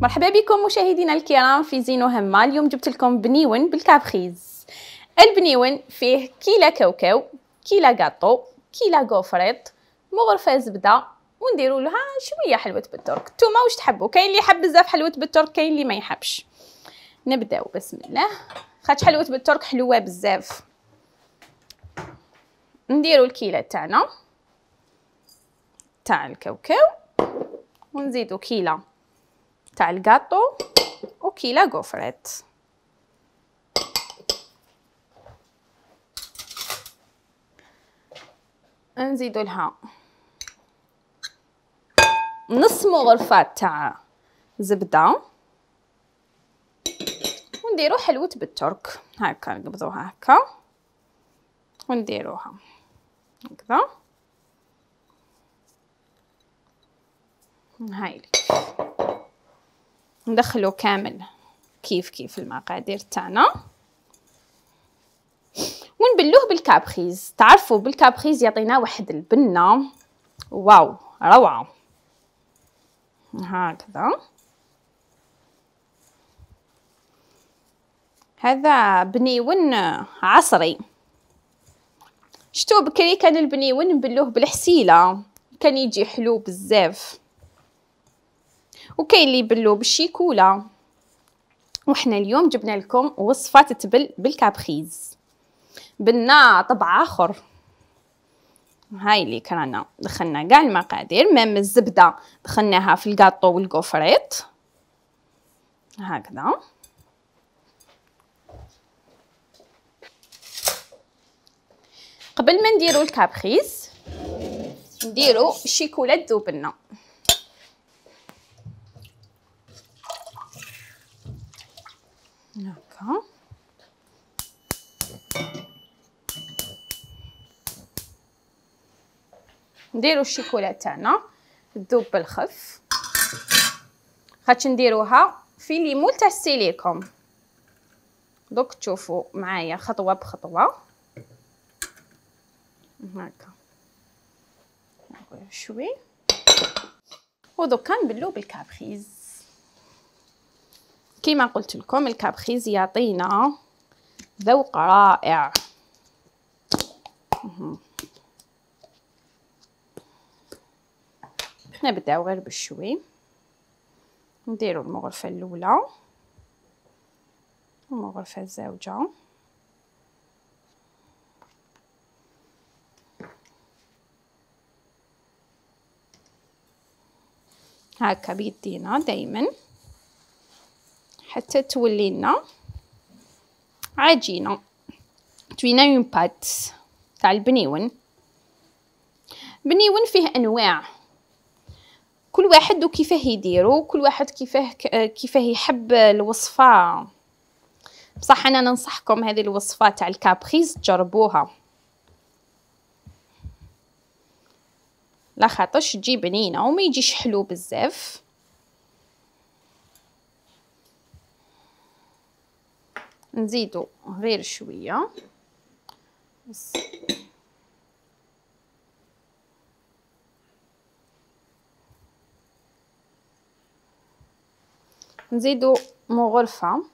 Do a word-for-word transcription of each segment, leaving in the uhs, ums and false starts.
مرحبا بكم مشاهدينا الكرام في زين وهمة. اليوم جبت لكم بنيون بالكابخيز. البنيون فيه كيلا كاوكاو، كيلا كاطو، كيلا غوفريط، مغرفه زبده، ونديروا لها شويه حلوه بالترك. نتوما واش تحبوا؟ كاين اللي يحب بزاف حلوه بالترك، كاين اللي ما يحبش. نبداو بسم الله. خاطش حلوه بالترك حلوه بزاف. نديروا الكيلا تاعنا تاع الكاوكاو، ونزيدوا كيلا تاع الكاطو وكيلا غوفريط. نزيدوا لها نص مغرفه تاع زبده، ونديروا حلوه بالترك. هكا نقبضوها هكا ونديروها هكذا. هاي ندخلو كامل كيف كيف المقادير تاعنا، ونبلوه بالكابخيز. تعرفوا بالكابخيز يعطينا واحد البنه واو روعه. هكذا هذا بنيون عصري. شتو بكري كان البنيون نبلوه بالحسيله، كان يجي حلو بزاف، وكاين اللي يبلوه بالشيكولا. وحنا اليوم جبنا لكم وصفه تتبل بالكابخيز بنا طبع اخر. هاي اللي كرانا دخلنا كاع المقادير، مام الزبده دخلناها في الكاطو والكوفريط هكذا. قبل ما نديرو الكابخيز نديرو الشيكولا تذوبلنا. هكا نديرو الشيكولا تاعنا تذوب بالخف، خاطش نديروها في ليمول تاع السيليكون. دوك تشوفوا معايا خطوه بخطوه هكا شوي، ودوكا نبلو بالكابخيز. كيما قلت لكم الكابخيز يعطينا ذوق رائع. نبداو غير بالشوي. نديرو المغرفه الاولى والمغرفه الزوجه هكا بيدينا دايما حتى تولي لنا عجينه، توينا اون بات تاع البنيون. بنيون فيه انواع، كل واحد وكيفاه يديرو، كل واحد كيفاه كيفاه يحب الوصفه. بصح انا ننصحكم هذه الوصفه تاع الكابخيز تجربوها، لا خاطرش تجي بنينه وما يجيش حلو بزاف. نزيدو غير شويه بس. نزيدو مغرفه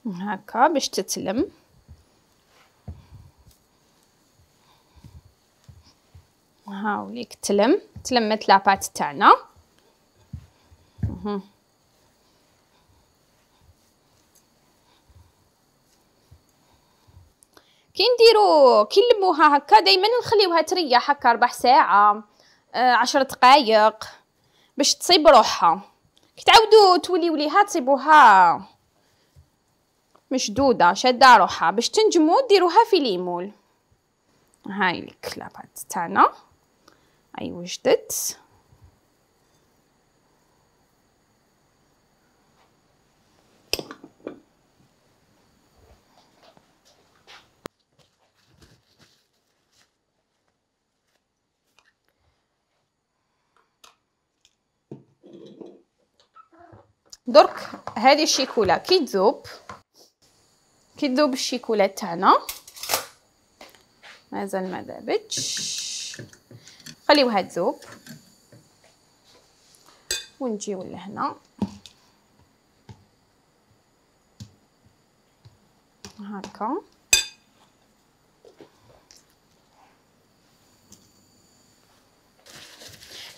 هكا باش تتلم. هاوليك تلم تلمت لاباط تاعنا. كي نديرو كي نلموها هكا دائما نخليوها تريح هكا ربع ساعه آه عشر دقائق باش تصيب روحها. كي تعاودوا توليو ليها تصيبوها مشدوده شاده روحها باش تنجموا ديروها في ليمول. هاي لك لاباط تاعنا اي وجدت. درك هذه الشيكولا كي تذوب كي تذوب الشيكولا تاعنا مازال ما ذابتش، خليوها تذوب ونجيو لهنا هكا.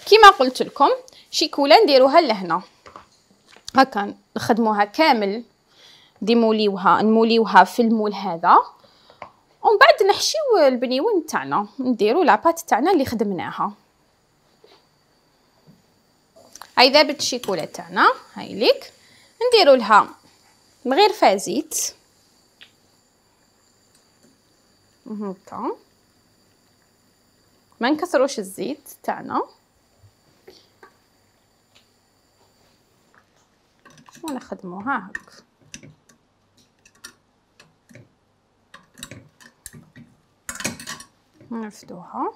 كيما قلت لكم شيكولا نديروها لهنا هكا، نخدموها كامل ديموليوها نموليوها في المول هذا، ومن بعد نحشيو البنيون تاعنا، نديرو لاباط تاعنا اللي خدمناها. هاي ذابت الشيكولا تاعنا، هاي ليك نديرو لها مغرفه زيت هكا، ما نكثروش الزيت تاعنا ونخدموها هكا. نرفدوها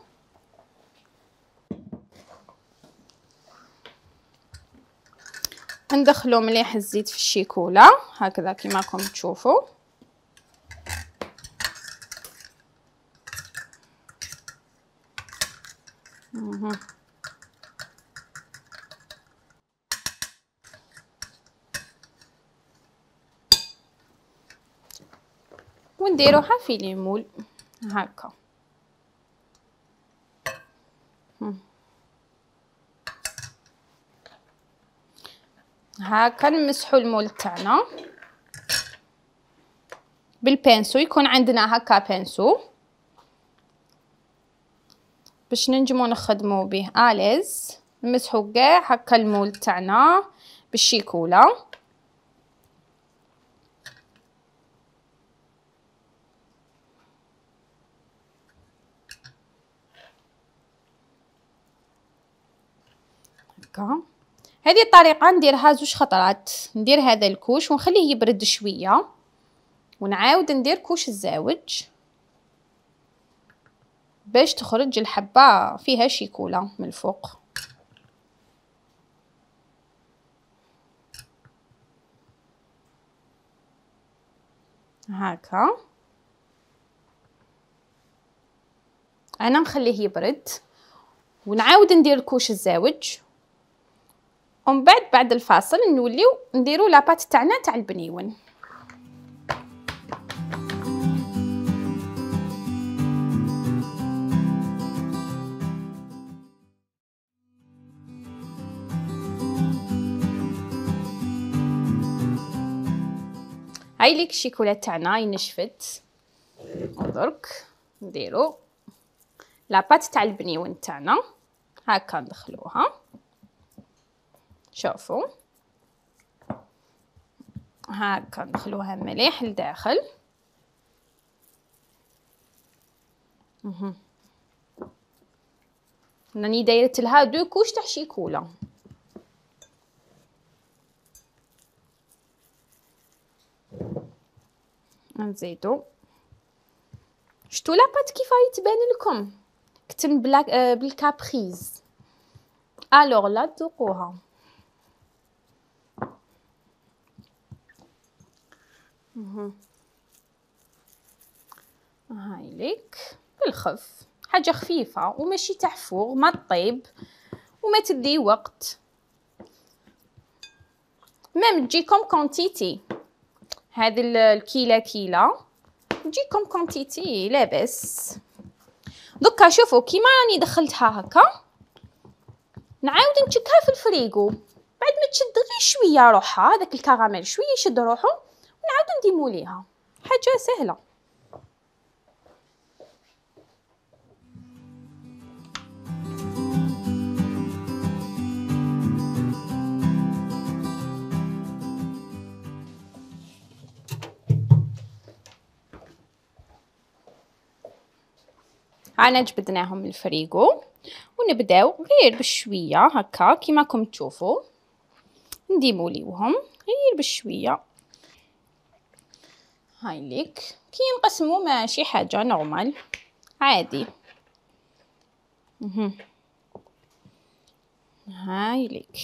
ندخلو مليح الزيت في الشيكولا هكذا كيما راكم تشوفوا. ونديروها في ليمول هكا. هكا نمسحو المول تاعنا بالبانسو، يكون عندنا هكا بانسو باش ننجمو نخدمو به اليز. نمسحو كاع هكا المول تاعنا بالشيكولا. هكا هذه الطريقه نديرها زوج خطرات، ندير هذا الكوش ونخليه يبرد شويه ونعاود ندير كوش الزاوج باش تخرج الحبه فيها شيكولا من الفوق هكا. انا نخليه يبرد ونعاود ندير كوش الزاوج، ومن بعد بعد الفاصل نوليو نديرو لاباط تاعنا تاع البنيون. هاي ليك الشيكولا تاعنا نشفت، ودرك نديرو لاباط تاع البنيون تاعنا هكا ندخلوها. شوفوا هكا ندخلوها مليح لداخل. اها راني دايرت لها دو كوش تاع شيكولا. نزيدو شتو لاباط كيف راهي تبان لكم، كتم بلا بالكابريز. الوغ لا تذوقوها. هاي ليك بالخف، حاجه خفيفه وماشي تحفور، ما تطيب وما تدي وقت، ميم تجيكم كونتيتي. هذه الكيله كيله تجيكم كونتيتي لاباس. دوكا شوفوا كيما راني دخلتها هكا، نعاود نشكها في الفريغو بعد ما تشد غير شويه روحها، هذاك الكراميل شويه يشد روحو ونعاود نديمو ليها. حاجه سهله. انا جبدناهم من الفريغو ونبداو غير بشويه هكا كيما راكم تشوفوا نديمو ليوهم غير بشويه. هاي ليك كي نقسمو ماشي حاجه نورمال عادي. اها هاي ليك.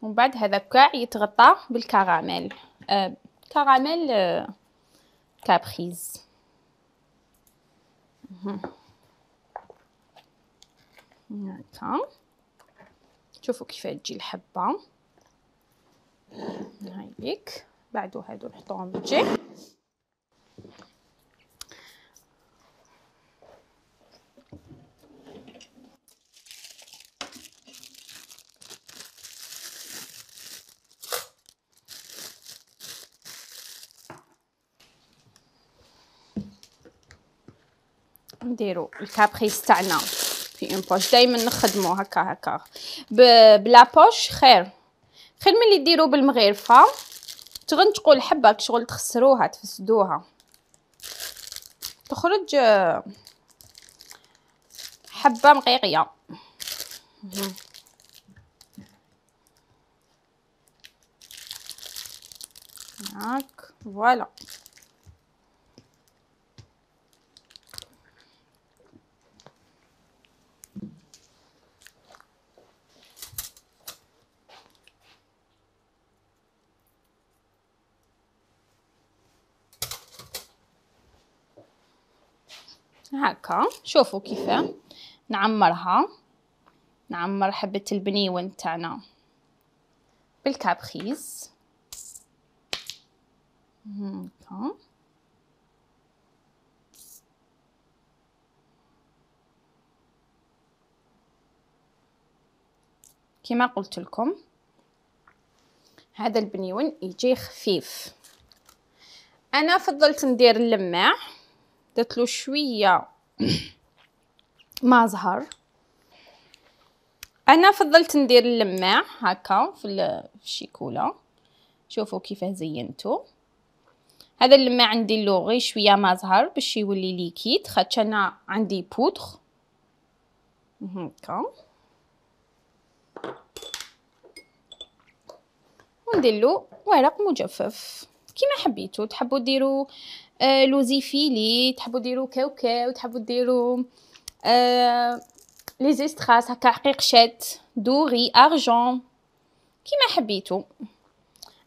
ومن بعد هذا كاع يتغطى بالكراميل. آه كراميل آه كابريز. هكا شوفوا كيف تجي الحبه. هايليك بعدو هادو نحطوهم بالجهه. نديرو الكابريز تاعنا في اون بوش. دائما نخدمو هكا هكا بلا بوش خير خير ملي ديرو بالمغرفه تغنتقوا الحبه شغل تخسروها تفسدوها تخرج حبه مقيقيه. هاك فوالا. هكا شوفوا كيف نعمرها. نعمر حبة البنيون تاعنا بالكابريز هكا. كما قلت لكم هذا البنيون يجي خفيف. انا فضلت ندير اللماع درتلو شويه ما زهر. انا فضلت ندير اللماع هكا في الشيكولا. شوفوا كيف زينته. هذا اللماع ندير له غير شويه ما زهر باش يولي ليكيد خاطش انا عندي بودر هكا. وندير له ورق مجفف كيما حبيتو. تحبوا ديروا آه لوزيفيلي، تحبوا ديروا كاوكاو، تحبوا ديروا آه لي زيستراس هكا حقيقشات دوري ارجون كيما حبيتو.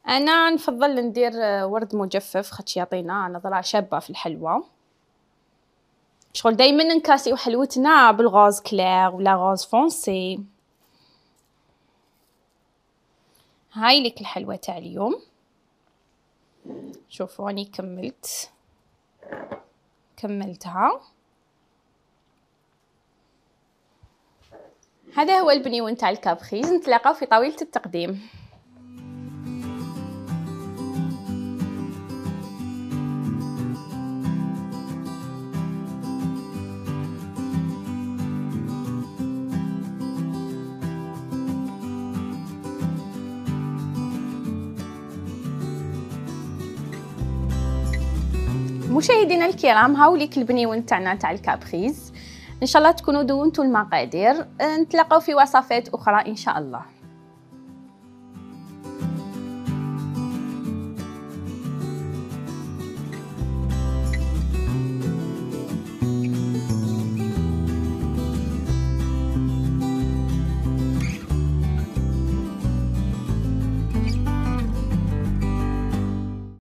انا نفضل ندير ورد مجفف خاطش يعطينا نظره شابه في الحلوى. شغل دائما نكاسيو حلوتنا بالغاز كلير ولا غاز فونسي. هاي لك الحلوى تاع اليوم. شوفوا راني كملت كملتها. هذا هو البنيون تاع الكابريز. نتلاقاو في طاولة التقديم. مشاهدينا الكرام هاوليك البنيون تاعنا تاع الكابريز. ان شاء الله تكونوا دونتوا المقادير. نتلاقاو في وصفات اخرى ان شاء الله.